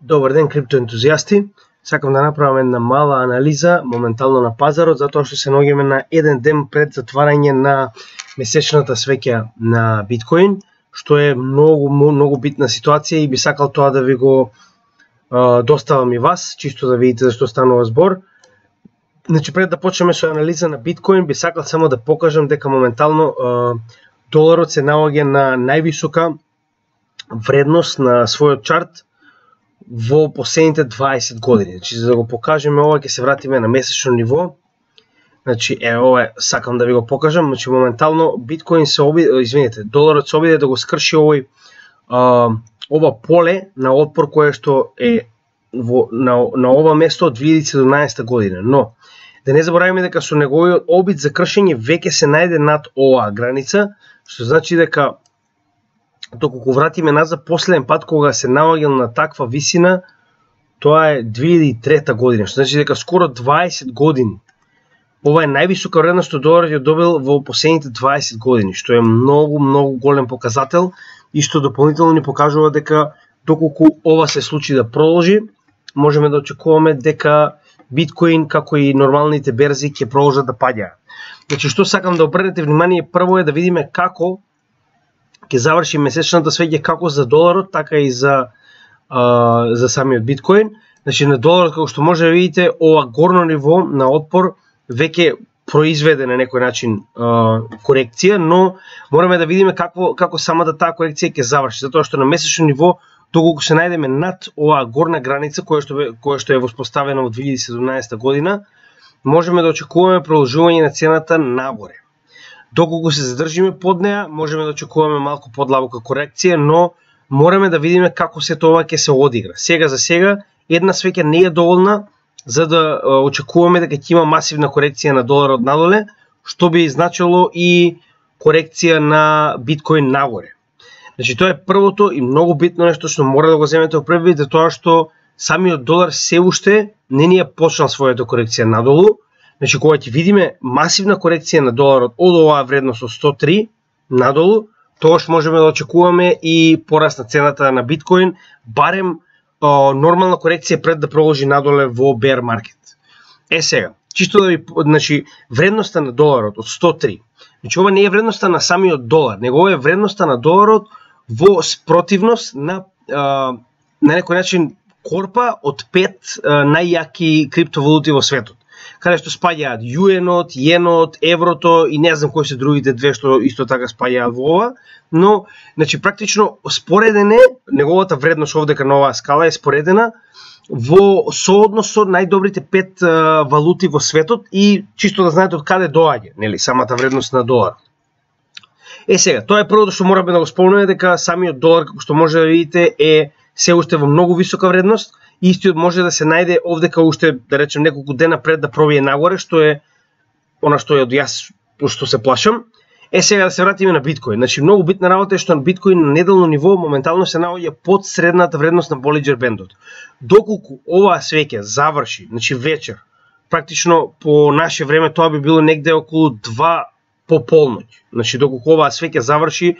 Добар ден, криптоентузијасти. Сакам да направам една мала анализа моментално на пазарот, затоа што се наоѓаме на еден ден пред затварање на месечната свеќа на биткоин, што е многу битна ситуација и би сакал тоа да ви го доставам и вас, чисто да видите зашто станува збор. Значи, пред да почнеме со анализа на биткоин, би сакал само да покажам дека моментално доларот се наоѓа на највисока вредност на својот чарт во последните 20 години. Значи, за да го покажеме ова, ќе се вратиме на месечно ниво. Значи, ова сакам да ви го покажам. Значи, моментално биткоин се доларот се обиде да го скрши ова поле на отпор кое што е на ова место од 2017 година. Но да не забораваме дека со неговиот обид за кршење веќе се најде над оваа граница, што значи дека доколку вратиме назад последен пат кога се наоѓал на таква висина, тоа е 2003 година, што значи дека скоро 20 години. Ова е највисока вредност што доларот ја добил во последните 20 години, што е многу голем показател и што дополнително ни покажува дека доколку ова се случи да продолжи, можеме да очекуваме дека биткоин како и нормалните берзи ќе продолжат да паѓаат. Значи, што сакам да обрнете внимание прво е да видиме како ќе заврши месечната свеќа како за доларот, така и за самиот биткоин. Значи, на доларот, како што може да видите, ова горно ниво на отпор веќе произведе на некој начин корекција, но мораме да видиме како самата таа корекција ќе заврши, затоа што на месечно ниво, доколку се најдеме над оваа горна граница која што е воспоставена во 2017 година, можеме да очекуваме продолжување на цената нагоре. Доколку се задржиме под неа, можеме да очекуваме малку подлабока корекција, но мораме да видиме како се тоа ќе се одигра. Сега за сега, една свеќа не е доволна за да очекуваме дека ќе има масивна корекција на доларот надоле, што би значило и корекција на биткоин нагоре. Значи, тоа е првото и многу битно нешто што мора да го земете во предвид, е тоа што самиот долар се уште не ни е почнал својата корекција надолу. Значи, кога ќе видиме масивна корекција на доларот од оваа вредност од 103 надолу, тогаш можеме да очекуваме и пораст на цената на биткоин, барем нормална корекција пред да продолжи надоле во bear market. Сега, чисто да ви, значи, вредноста на доларот од 103. Значи, ова не е вредноста на самиот долар, него е вредноста на доларот во спротивност на некој начин корпа од 5 најјаки криптовалути во светот, каде што спаѓаат юенот, јенот, еврото и не знам кои се другите две што исто така спаѓаат во ова, но значи практично спореден е неговата вредност овдека на оваа скала е споредена во сооднос со најдобрите 5 валути во светот и чисто да знаете од каде доаѓа, нели, самата вредност на долар. Сега, тоа е првото што мораме да го спомнеме, дека самиот долар, како што може да видите, е се уште во многу висока вредност. Истиот може да се најде овдека уште, да речем, неколку дена пред да пробие нагоре, што е она што е од јас, што се плашам. Сега да се вратиме на биткоин. Значи, многу битна работа е што на биткоин на неделно ниво моментално се наоѓа под средната вредност на Болинџер бендот. Доколку оваа свеќа заврши, значи вечер, практично по наше време тоа би било негде околу 2 по полноќ. Значи, доколку оваа свеќа заврши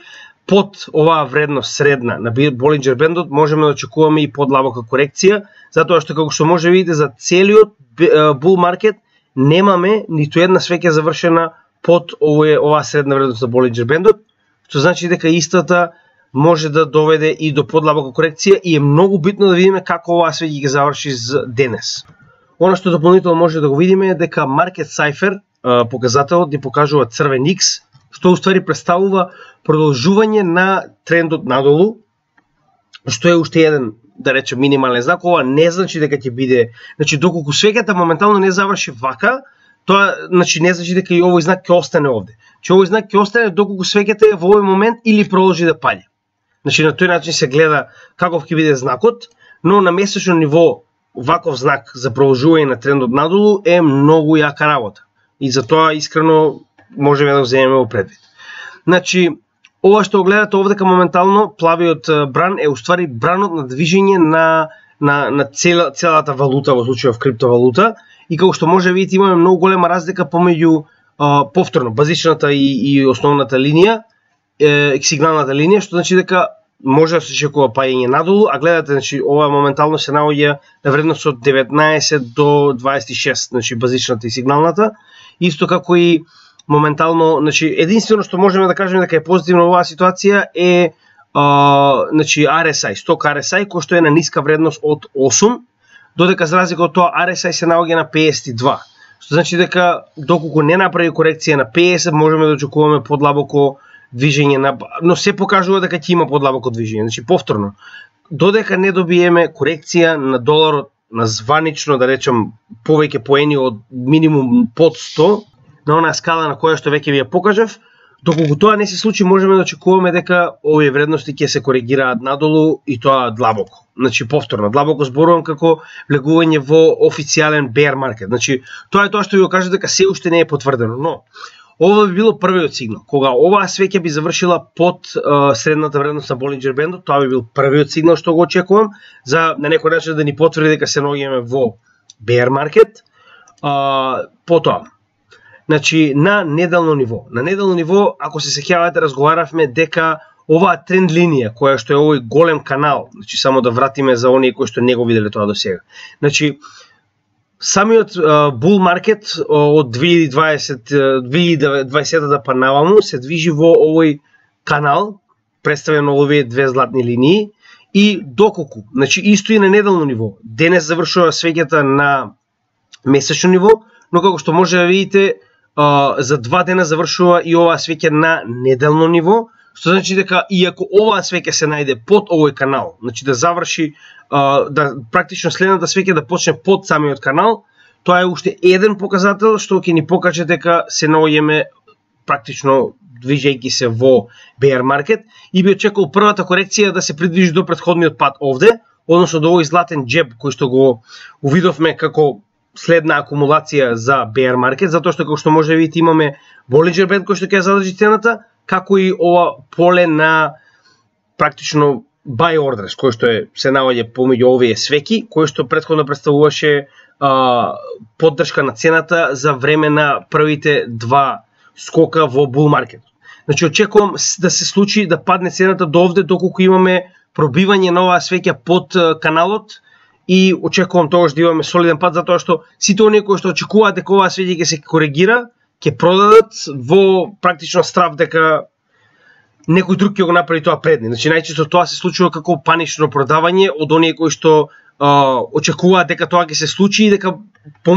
под оваа вредност средна на Болинџер бендот, можеме да очекуваме и подлабока корекција, затоа што како што може да видите за целиот бул маркет немаме ниту една свеќа завршена под оваа средна вредност на Болинџер бендот, што значи дека истата може да доведе и до подлабока корекција и е многу битно да видиме како оваа свеќа ќе заврши денес. Она што дополнително може да го видиме е дека Market Cipher показателот ни покажува црвен X, што уствари представува продолжување на трендот надолу, што е уште еден, да речем, минимален знак. Ова не значи дека ќе биде, значи доколку свеќата моментално не заврши вака, тоа значи не значи дека и овој знак ќе остане овде. Че овој знак ќе остане доколку свеќата е во овој момент или продолжи да паѓа. Значи на тој начин се гледа каков ќе биде знакот, но на месечно ниво ваков знак за продолжување на трендот надолу е многу јака работа. И затоа искрено можеме да го земеме во предвид. Значи, ова што гледате овдека моментално, плавиот бран е уствари бранот на движење на целата валута, во случајов криптовалута, и како што може да видите имаме многу голема разлика помеѓу повторно базичната и основната линија, сигналната линија, што значи дека може да се очекува паѓање надолу, а гледате, значи ова моментално се наоѓа на вредност од 19 до 26, значи базичната и сигналната, исто како и моментално, значи единствено што можеме да кажеме дека е позитивно оваа ситуација е значи RSI, сток RSI кој што е на ниска вредност од 8, додека за разлика од тоа RSI се наоѓа на 52. Што значи дека доколку не направи корекција на 50, можеме да очекуваме подлабоко движење на, но се покажува дека ќе има подлабоко движење. Значи повторно, додека не добиеме корекција на доларот на званично, да речем, повеќе поени од минимум под 100 на онаа скала на која што веќе ви ја покажав, доколку тоа не се случи, можеме да очекуваме дека овие вредности ќе се коригираат надолу и тоа длабоко. Значи повторно, длабоко зборувам како влегување во официјален bear market. Значи тоа е тоа што ви го кажа дека се уште не е потврдено, но ова би било првиот сигнал. Кога оваа свеќа би завршила под средната вредност на Болинџер бендот, тоа би бил првиот сигнал што го очекувам за на некој начин да ни потврди дека се наоѓаме во bear market. Потоа, значи на неделно ниво. На неделно ниво, ако се сеќавате, разговаравме дека оваа тренд линија која што е овој голем канал, значи само да вратиме за оние кои што не го виделе тоа до сега. Значи самиот bull market од 2020 па наваму се движи во овој канал, представен на овие две златни линии, и доколку, значи исто и на неделно ниво. Денес завршува свеќата на месечно ниво, но како што може да видите, за 2 дена завршува и оваа свеќа на неделно ниво, што значи дека иако оваа свеќа се најде под овој канал, значи да заврши, да практично следната свеќа да почне под самиот канал, тоа е уште еден показател што ќе ни покаже дека се наоѓаме практично движејќи се во bear market, и би очекувал првата корекција да се придвижи до претходниот пат овде, односно до овој златен джеб кој што го увидовме како следна акумулација за bear market, затоа што како што може да видите имаме Болинџер бенд кој што ќе задржи цената, како и ова поле на практично buy orders, кој што се наоѓа помеѓу овие свеки, кој што претходно представуваше поддршка на цената за време на првите два скока во bull market. Значи очекувам да се случи да падне цената до овде доколку имаме пробивање на оваа свеќа под каналот, и очекувам тогаш да имаме солиден пат, затоа што сите оние кои што очекуваат дека оваа свеќа ќе се коригира, ќе продадат во практично страв дека некој друг ќе го направи тоа пред нив. Значи најчесто тоа се случува како панично продавање од оние кои што очекуваат дека тоа ќе се случи и дека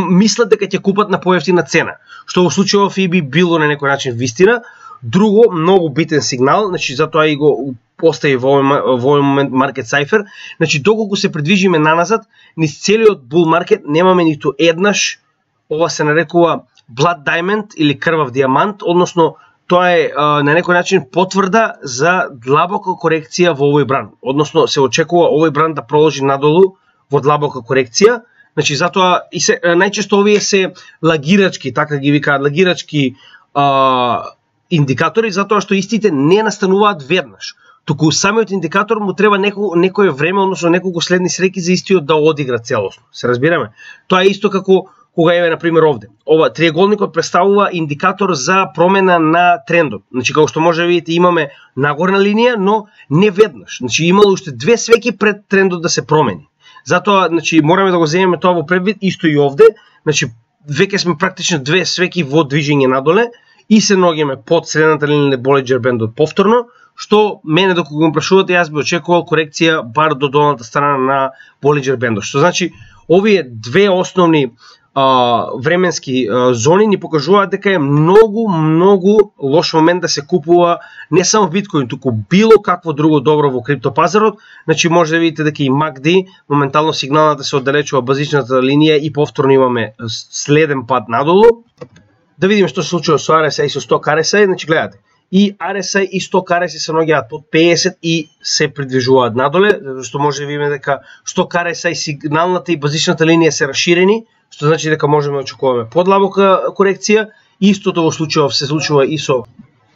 мислат дека ќе купат на поевтина цена, што во случајов и би било на некој начин вистина. Друго многу битен сигнал, значи затоа и го постави во овој момент Market Cypher, значи доколку се придвижиме наназад, низ целиот bull market немаме ниту еднаш, ова се нарекува blood diamond или крвав диамант, односно тоа е на некој начин потврда за длабока корекција во овој бран. Односно се очекува овој бран да продолжи надолу во длабока корекција. Значи затоа и се најчесто овие се лагирачки, така ги викаат, лагирачки индикатори, затоа што истите не настануваат веднаш. Туку самиот индикатор му треба некое време, односно неколку следни среќи за истиот да одигра целосно. Се разбираме? Тоа е исто како кога еве на пример овде. Ова триаголникот представува индикатор за промена на трендот. Значи како што може да видите имаме нагорна линија, но не веднаш. Значи имало уште две свеќи пред трендот да се промени. Затоа значи мораме да го земеме тоа во предвид, исто и овде. Значи веќе сме практично две свеќи во движење надоле и се наоѓаме под средната линија на Болинџер бендот повторно, што мене докога го прашувате јас би очекувал корекција бар до долната страна на Болинџер бендот. Што значи овие две основни временски зони ни покажуваат дека е многу лош момент да се купува не само биткоин, туку било какво друго добро во криптопазарот. Значи може да видите дека и MACD моментално сигналната се оддалечува базичната линија и повторно имаме следен пат надолу. Да видиме што се случува со RSI и со сток RSI. Значи гледате, и RSI и сток RSI се наоѓаат под 50 и се придвижуваат надоле, зашто може да видиме дека сток RSI сигналната и базичната линија се расширени, што значи дека можеме да очекуваме подлабока корекција. Истото во случајов се случува и со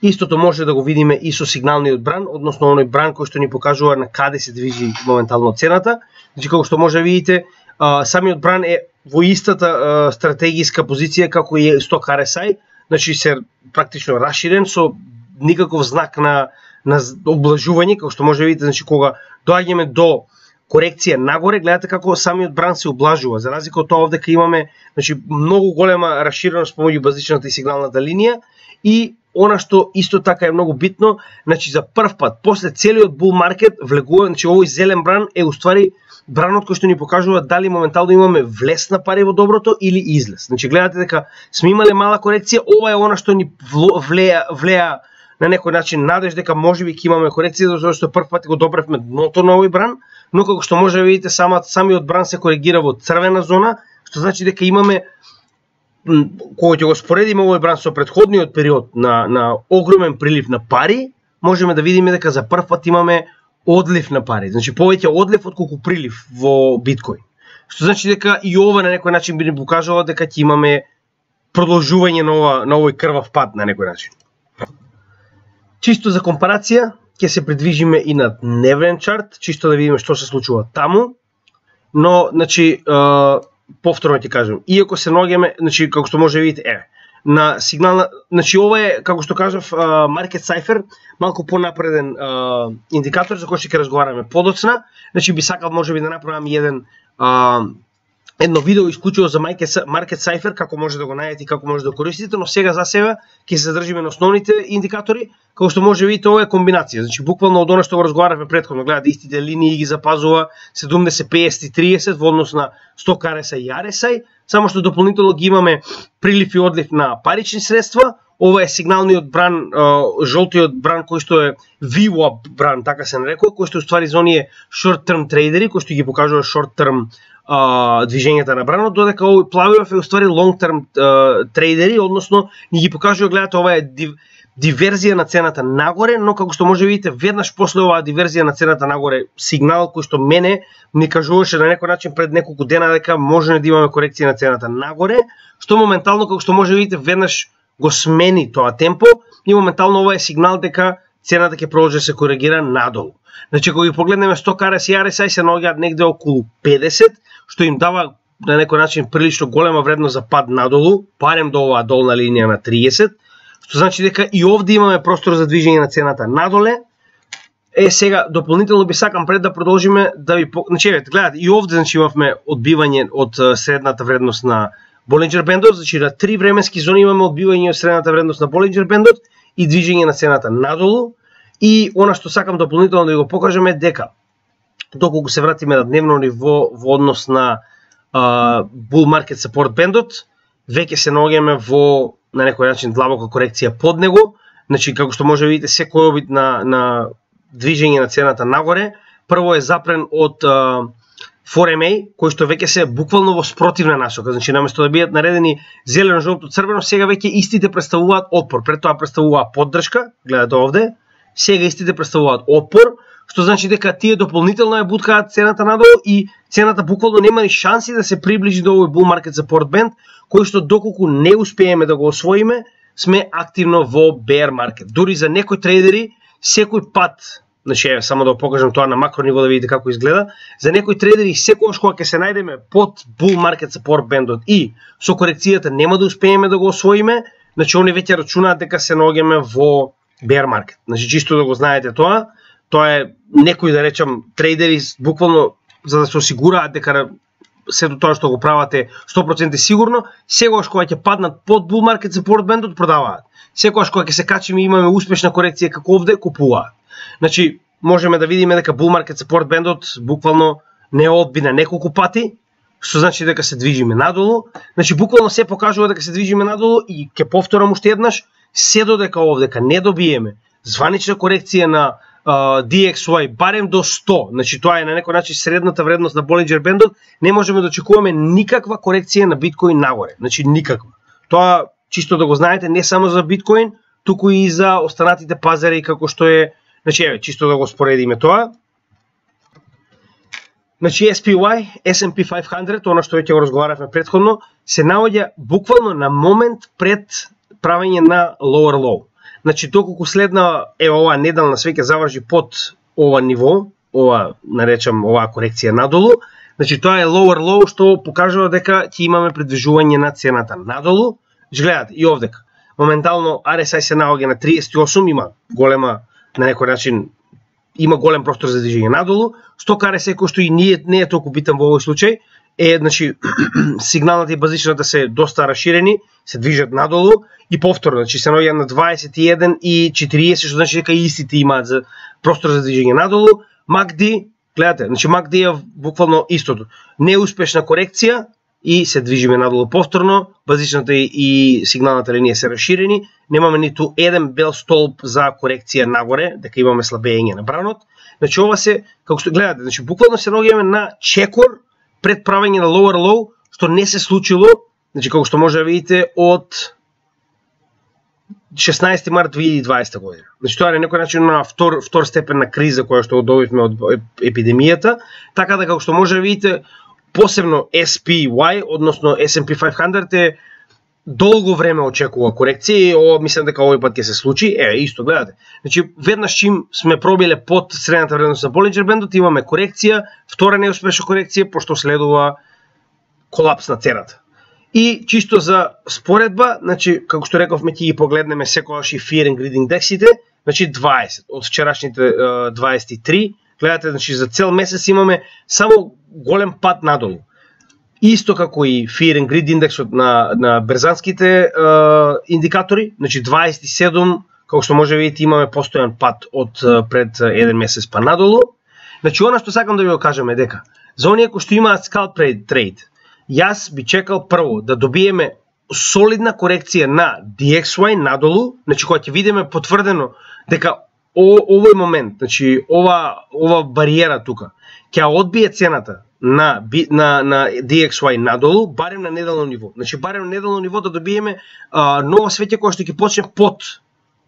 истото може да го видиме и со сигналниот бран, односно оној бран кој што ни покажува на каде се движи моментално цената. Значи како што може да видите, самиот бран е во истата стратегиска позиција како и сток RSI, значи се практично расширен со никаков знак на на облажување, како што може да видите, значи кога доаѓаме до корекција нагоре, гледате како самиот бран се облажува. За разлика од тоа овде кај имаме, значи многу голема расширеност помеѓу базичната и сигналната линија, и она што исто така е многу битно, значи за прв пат после целиот бул маркет влегува, значи овој зелен бран е уствари бранот кој што ни покажува дали моментално имаме влез на пари во доброто или излез. Значи гледате дека сме имале мала корекција, ова е она што ни влеа на некој начин надеж дека можеби ќе имаме корекција, затоа што прв пат го добревме дното на овој бран, но како што може да видите самиот бран се коригира во црвена зона, што значи дека имаме, кога ќе го споредиме овој бран со претходниот период на огромен прилив на пари, можеме да видиме дека за прв пат имаме одлив на пари, значи повеќе одлив отколку прилив во биткоин. Што значи дека и ова на некој начин би ни покажало дека ќе имаме продолжување на овој крвав пат на некој начин. Чисто за компарација, ќе се придвижиме и на дневен чарт, чисто да видиме што се случува таму. Но, значи, повторно ќе кажам, иако се наоѓаме, значи како што може да видите, на сигнална, значи ова е, како што кажав, Market Cipher, малку понапреден индикатор за кој ќе разговараме подоцна. Значи би сакал можеби да направам едно видео исклучиво за Market Cipher, како може да го најдете и како може да го користите, но сега за себе ќе се задржиме на основните индикатори. Како што може да видите, ова е комбинација, значи буквално од она што го разговаравме претходно, гледате истите линии ги запазува 70, 50 и 30 во однос на 100 RSI и RSI, само што дополнително ги имаме прилив и одлив на парични средства. Ова е сигналниот бран, жолтиот бран кој што е VWAP бран, така се нарекува, кој што уствари за оние short term трейдери, кој што ги покажува short term движењата на бранот, додека овој плавиот е уствари long term трейдери, односно ни ги покажува, гледате, ова е диверзија на цената нагоре, но како што може да видите, веднаш после оваа диверзија на цената нагоре, сигнал кој што мене ми кажуваше на некој начин пред неколку дена дека може да имаме корекција на цената нагоре, што моментално, како што може да видите, веднаш го смени тоа темпо и моментално ова е сигнал дека цената ќе продолжи да се коригира надолу. Значи, кога ги погледнеме 100 RSI и RSI се наоѓаат негде околу 50, што им дава на некој начин прилично голема вредност за пад надолу, барем до оваа долна линија на 30, што значи дека и овде имаме простор за движење на цената надоле. Сега дополнително би сакам пред да продолжиме да ви значи гледате, и овде значи имавме одбивање од средната вредност на Болинџер бендот, значи на 3 временски зони имаме одбивање од средната вредност на Болинџер бендот и движење на цената надолу. И она што сакам дополнително да ви го покажам е дека доколку се вратиме на дневно ниво во однос на Bull Market Support бендот, веќе се наоѓаме во на некој начин длабока корекција под него. Значи како што може да видите, секој обид на движење на цената нагоре прво е запрен од 4MA, кои што веќе се буквално во спротивна насока. Значи наместо да бидат наредени зелено, жолто, црвено, сега веќе истите представуваат отпор. Пред тоа представуваа поддршка, гледате овде. Сега истите представуваат отпор, што значи дека тие дополнително ја буткаат цената надолу и цената буквално нема ни шанси да се приближи до овој Bull Market Support Band, кој што доколку не успееме да го освоиме, сме активно во bear market. Дури за некои трейдери, секој пат, значи само да покажам тоа на макро ниво да видите како изгледа, за некои трейдери секогаш кога ќе се најдеме под Bull Market Support Band и со корекцијата нема да успееме да го освоиме, значи они веќе рачунаат дека се наоѓаме во bear market. Значи чисто да го знаете тоа е некои да речам трейдери буквално за да се осигураат дека сето тоа што го прават е 100% сигурно, секогаш кога ќе паднат под Bull Market Support Band продаваат. Секогаш кога ќе се качиме и имаме успешна корекција како овде, купуваат. Значи можеме да видиме дека Bull Market Support Band буквално не одби на неколку пати, што значи дека се движиме надолу. Значи буквално се покажува дека се движиме надолу и ќе повторам уште еднаш, се додека овдека не добиеме званична корекција на DXY барем до 100, значи тоа е на некој начин средната вредност на Болинџер бендот, не можеме да очекуваме никаква корекција на биткоин нагоре, значи никаква. Тоа чисто да го знаете не само за биткоин, туку и за останатите пазари како што е, значи чисто да го споредиме тоа. Значи SPY, S&P 500, она што веќе го разговаравме претходно, се наоѓа буквално на момент пред правење на lower low. Значи доколку следна оваа неделна свеќе заврши под ова ниво, ова наречам оваа корекција надолу, значи тоа е lower low што покажува дека ќе имаме придвижување на цената надолу. Гледате и овдека. Моментално RSI се наоѓа на 38, има голема на некој начин има голем простор за движење надолу. Сток RSI кој што и не е толку битен во овој случај, значи сигналната и базичната се доста расширени, се движат надолу и повторно, значи се наоѓаат на 21 и 40, што значи дека истите имаат за простор за движење надолу. MACD, гледате, значи MACD е буквално истото. Неуспешна корекција и се движиме надолу повторно, базичната и сигналната линија се расширени, немаме ниту еден бел столб за корекција нагоре, дека имаме слабење на бранот. Значи ова се, како што гледате, значи буквално се наоѓаме на чекор пред правење на lower low, што не се случило, значи како што може да видите од 16 март 2020 година. Значи тоа е некој начин на втор степен на криза која што добивме од епидемијата, така да како што може да видите посебно SPY, односно S&P 500 е долго време очекува корекција и ова мислам дека овој пат ќе се случи. Исто гледате. Значи веднаш чим сме пробиле под средната вредност на Bollinger Band-от, имаме корекција, втора неуспешна корекција, пошто следува колапс на цената. И чисто за споредба, значи како што рековме ќе ги погледнеме секогаш и Fear and Greed индексите, значи 20 од вчерашните 23. Гледате, значи за цел месец имаме само голем пат надолу. Исто како и Fear and Greed индексот на берзанските индикатори, значи 27, како што може да видите имаме постојан пат од пред еден месец па надолу. Значи она што сакам да ви го кажам е дека за оние кои што имаат scalp trade, јас би чекал прво да добиеме солидна корекција на DXY надолу, значи кога ќе видиме потврдено дека овој момент, значи ова бариера тука ќе одбие цената на DXY надолу, барем на неделно ниво. Значи барем на неделно ниво да добиеме ново свеќе кој што ќе почне под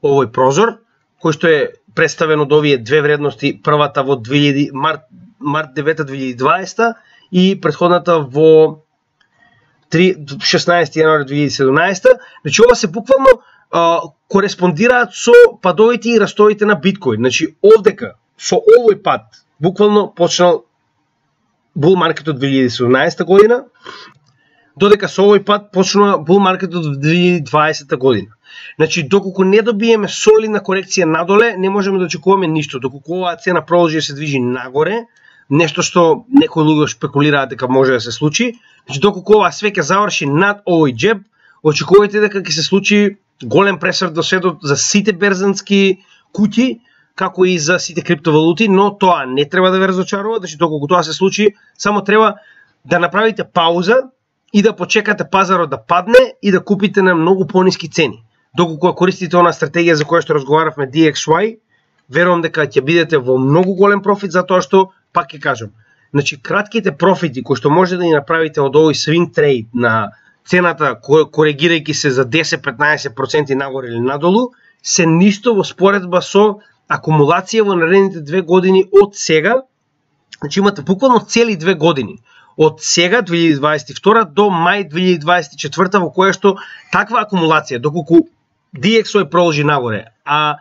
овој прозор, кој што е представен од овие две вредности, првата во март 9 2020 и претходната во 16 јануари 2017. Значи ова се буквално кореспондираат со падовите и растоите на биткоин. Значи овдека со овој пад буквално почнал бул маркетот 2017 година, додека со овој пат почнува бул маркетот 2020 година. Значи доколку не добиеме солидна корекција надоле, не можеме да очекуваме ништо. Доколку оваа цена продолжи да се движи нагоре, нешто што некои луѓе шпекулираат дека може да се случи, значи доколку оваа све ќе заврши над овој џеб, очекувајте дека ќе се случи голем пресврт до светот за сите берзански куќи, како и за сите криптовалути, но тоа не треба да ве разочарува, значи доколку тоа се случи, само треба да направите пауза и да почекате пазарот да падне и да купите на многу пониски цени. Доколку користите онаа стратегија за која што разговаравме DXY, верувам дека ќе бидете во многу голем профит, затоа што, пак ќе кажам, значи кратките профити кои што може да ни направите од овој swing trade на цената коригирајќи се за 10-15% нагоре или надолу, се ништо во споредба со акумулација во наредните 2 години од сега. Значи имате буквално цели 2 години од сега 2022 до мај 2024 во која што таква акумулација, доколку DXY продолжи нагоре, а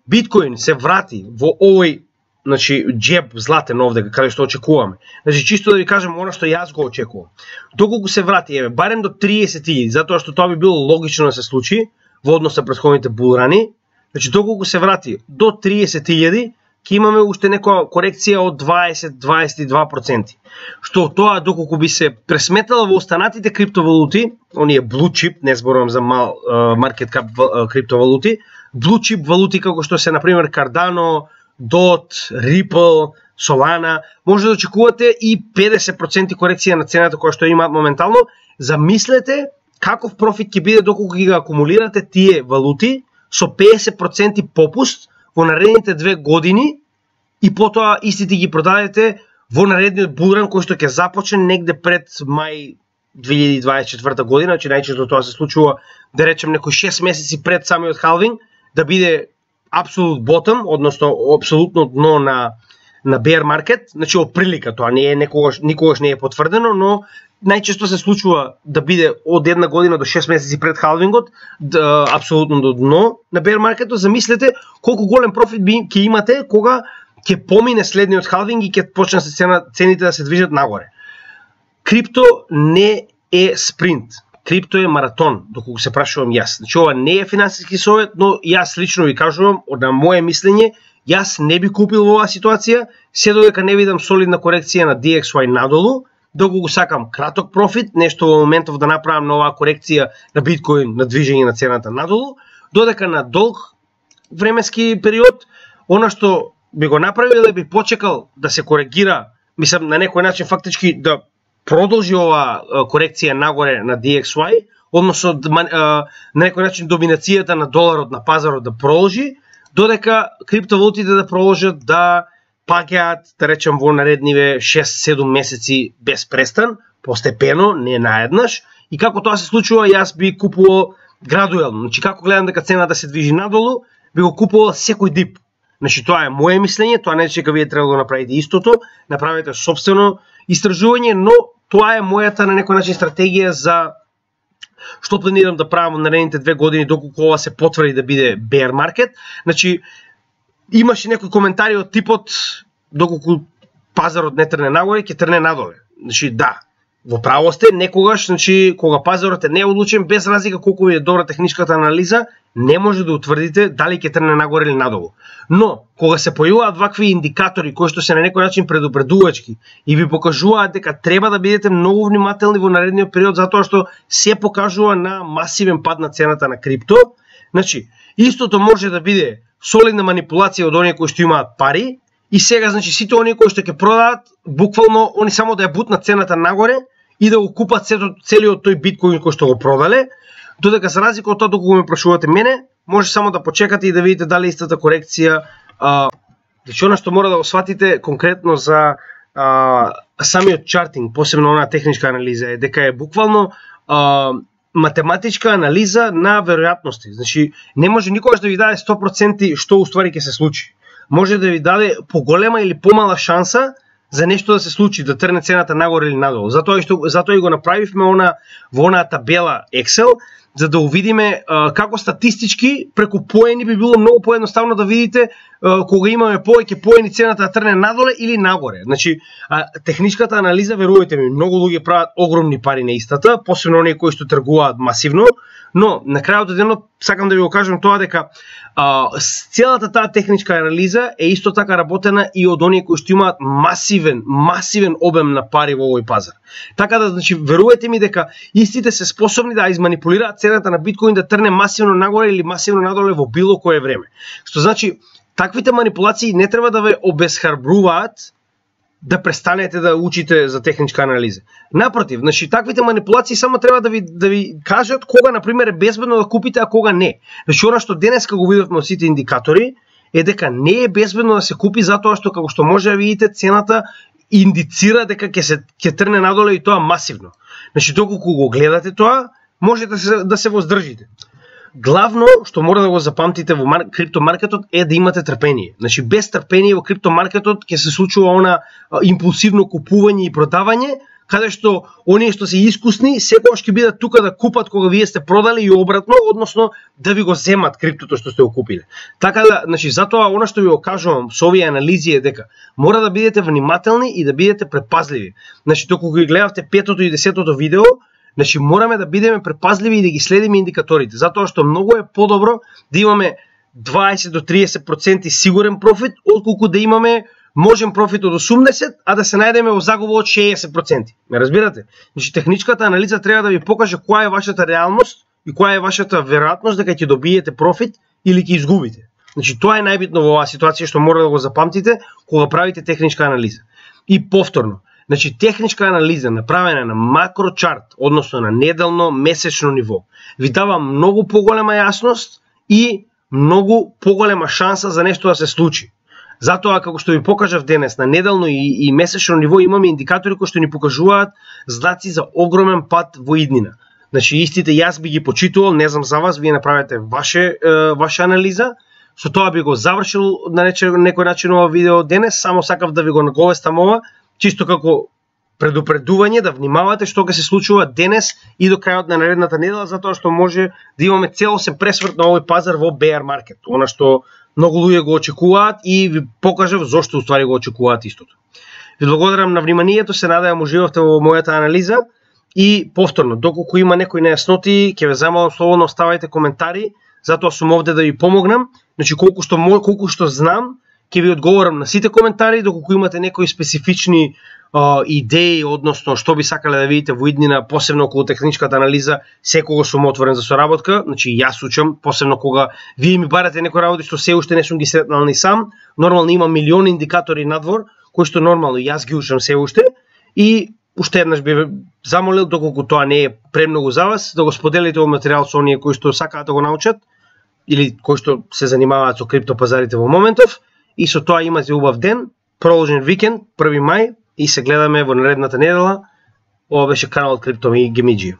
биткоин се врати во овој, значи џеб златен овде каде што очекуваме. Значи чисто да ви кажам она што јас го очекувам. Доколку се врати барем до 30.000, затоа што тоа би било логично да се случи во однос на претходните булрани. Значи доколку се врати до 30.000, ќе имаме уште некоја корекција од 20-22%. Што тоа доколку би се пресметала во останатите криптовалути, оние blue chip, не зборувам за мал market cap криптовалути, blue chip валути како што се например Cardano, DOT, Ripple, Solana, може да очекувате и 50% корекција на цената која што има моментално. Замислете каков профит ќе биде доколку ги акумулирате тие валути со 50% попуст во наредните 2 години и потоа истите ги продадете во наредниот булран кој што ќе започне негде пред мај 2024 година, значи најчесто тоа се случува да речем некои 6 месеци пред самиот халвинг, да биде абсолют ботом, односно апсолутно дно на bear market, значи оприлика, тоа не е никогаш не е потврдено, но најчесто се случува да биде од една година до 6 месеци пред халвингот, апсолутно до дно на bear market. Замислете колку голем профит ќе имате кога ќе помине следниот халвинг и ќе почнат цените да се движат нагоре. Крипто не е спринт. Крипто е маратон, доколку се прашувам јас. Значи ова не е финансиски совет, но јас лично ви кажувам, на моје мислење Јас не би купил во оваа ситуација, се додека не видам солидна корекција на DXY надолу, доколку го сакам краток профит, нешто во моментов да направам на оваа корекција на биткоин на движење на цената надолу, додека на долг временски период, она што би го направил е би почекал да се коригира, мислам на некој начин фактички да продолжи оваа корекција нагоре на DXY, односно на некој начин доминацијата на доларот на пазарот да продолжи, додека криптовалутите да продолжат да паѓаат, да речем, во наредниве 6-7 месеци без престан, постепено, не наеднаш, и како тоа се случува, јас би купувал градуелно. Значи, како гледам дека цената се движи надолу, би го купувал секој дип. Значи, тоа е моје мислење, тоа не е дека вие треба да направите истото, направете собствено истражување, но тоа е мојата на некој начин стратегија за што планирам да правам во наредните 2 години доколку ова се потврди да биде bear market. Значи, имаше некои коментари од типот доколку пазарот не трне нагоре, ќе трне надоле. Значи, да, во право сте, некогаш, значи, кога пазарот е неодлучен, без разлика колку ви е добра техничката анализа, не може да утврдите дали ќе трне нагоре или надолу. Но, кога се појавуваат вакви индикатори кои што се на некој начин предупредувачки и ви покажуваат дека треба да бидете многу внимателни во наредниот период затоа што се покажува на масивен пад на цената на крипто, значи, истото може да биде солидна манипулација од оние кои што имаат пари и сега, значи, сите оние кои што ќе продаат, буквално, они само да ја бутнат цената нагоре и да го купат целиот тој биткоин кој што го продале, додека за разлика од тоа доколку ме прашувате мене, може само да почекате и да видите дали истата корекција. Значи, она што мора да го сватите конкретно за самиот чартинг, посебно онаа техничка анализа, е дека е буквално математичка анализа на веројатности. Значи, не може никогаш да ви даде 100% што уствари ќе се случи. Може да ви даде поголема или помала шанса за нешто да се случи, да трне цената нагоре или надолу. Затоа и го направивме во онаа табела Excel, за да увидиме како статистички преку поени би било многу поедноставно да видите кога имаме повеќе поени цената да трне надоле или нагоре. Значи, техничката анализа, верувајте ми, многу луѓе прават огромни пари на истата, посебно оние кои што тргуваат масивно, но на крајот од денот сакам да ви го кажам тоа дека целата таа техничка анализа е исто така работена и од оние кои што имаат масивен обем на пари во овој пазар. Така да, значи, верувајте ми дека истите се способни да изманипулираат цената на биткоин да трне масивно нагоре или масивно надоле во било кое време. Што значи, таквите манипулации не треба да ве обесхрабруваат да престанете да учите за техничка анализа. Напротив, значи, таквите манипулации само треба да ви кажат кога, например, е безбедно да купите, а кога не. Значи, она што денеска го видовме од сите индикатори е дека не е безбедно да се купи затоа што, како што може да видите, цената индицира дека ќе трне надоле и тоа масивно. Значи, доколку го гледате тоа, можете да се воздржите. Главно што мора да го запамтите во криптомаркетот е да имате трпение. Значи, без трпение во криптомаркетот ќе се случува она импулсивно купување и продавање, каде што оние што се искусни секогаш ќе бидат тука да купат кога вие сте продали и обратно, односно да ви го земат криптото што сте го купиле. Така да, значи, затоа она што ви го кажувам со овие анализи е дека мора да бидете внимателни и да бидете предпазливи. Значи, доколку ги гледавте 5-тото и 10-тото видео, значи, мораме да бидеме предпазливи и да ги следиме индикаторите, затоа што многу е подобро да имаме 20 до 30% сигурен профит, отколку да имаме можен профит од 80, а да се најдеме во загуба од 60%. Ме разбирате? Значи, техничката анализа треба да ви покаже која е вашата реалност и која е вашата веројатност дека ќе добиете профит или ќе изгубите. Значи, тоа е најбитно во оваа ситуација што мора да го запамтите кога правите техничка анализа. И повторно, значи, техничка анализа направена на макрочарт, односно на неделно, месечно ниво, ви дава многу поголема јасност и многу поголема шанса за нешто да се случи. Затоа, како што ви покажав денес, на неделно и месечно ниво имаме индикатори кои што ни покажуваат знаци за огромен пад во иднина. Значи, истите јас би ги почитувал, не знам за вас, вие направете ваша анализа. Со тоа би го завршил на некој начин ова видео денес, само сакав да ви го наговестам ова, чисто како предупредување да внимавате што ќе се случува денес и до крајот на наредната недела, затоа што може да имаме целосен пресврт на овој пазар во bear market, она што многу луѓе го очекуваат и ви покажав зошто уствари го очекуваат истото. Ви благодарам на вниманието, се надевам уживавте во мојата анализа и повторно, доколку има некои нејасноти, ќе ве замолам слободно оставајте коментари, затоа сум овде да ви помогнам. Значи, колку што знам ќе ви одговорам на сите коментари, доколку имате некои специфични идеи, односно што би сакале да видите во иднина, посебно околу техничката анализа, секогаш сум отворен за соработка. Значи јас учам, посебно кога вие ми барате некои работи што се уште не сум ги сретнал ни сам. Нормално има милиони индикатори надвор, кои што нормално јас ги учам се уште, и уште еднаш би замолил, доколку тоа не е премногу за вас, да го споделите овој материјал со оние кои што сакаат да го научат или кои што се занимаваат со криптопазарите во моментов. И со тоа имате убав ден, продолжен викенд, 1 мај, и се гледаме во наредната недела. Ова беше каналот Крипто Гемиџи.